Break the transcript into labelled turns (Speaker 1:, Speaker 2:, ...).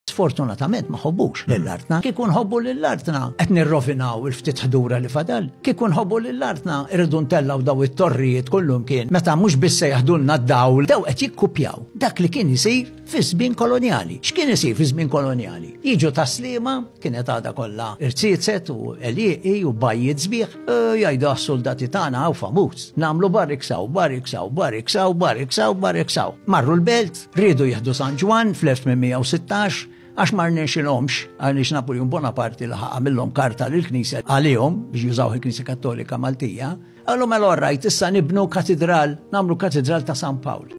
Speaker 1: Sfortunatament ma ħobbux lil artna. Kieku nħobbu lil artna qed nirrovinaw il-ftit ħdura li fadal. Kieku nħobbu lil artna irridu ntellgħu daw it-torrijiet kullumkien meta mhux biss se jaħdulna d-dawl, daw qed jikkupjaw dak li kien isir fi żmien kolonjali. X'kien isir fi żmien kolonjali? Jiġu Tas-Sliema, kienet għadha kollha irziezet u għelieqi u bajjiet sbieħ, jgħidu għas-suldati tagħna hawn famuż. Nagħmlu barricks hawn, barricks hawn, barricks hawn, barricks hawn, barricks hawn. Marru l-belt, riedu jieħdu San Ġwann fl-1816, għax ma rnexxilhomx, għaliex Napoleon Bonaparte laħaq għamilhom karta lill-Knisja għalihom biex jużaw il-Knisja Kattolika Maltija, qallu mela all right, issa nibnu katidral, nagħmlu katidral ta' San Pawl.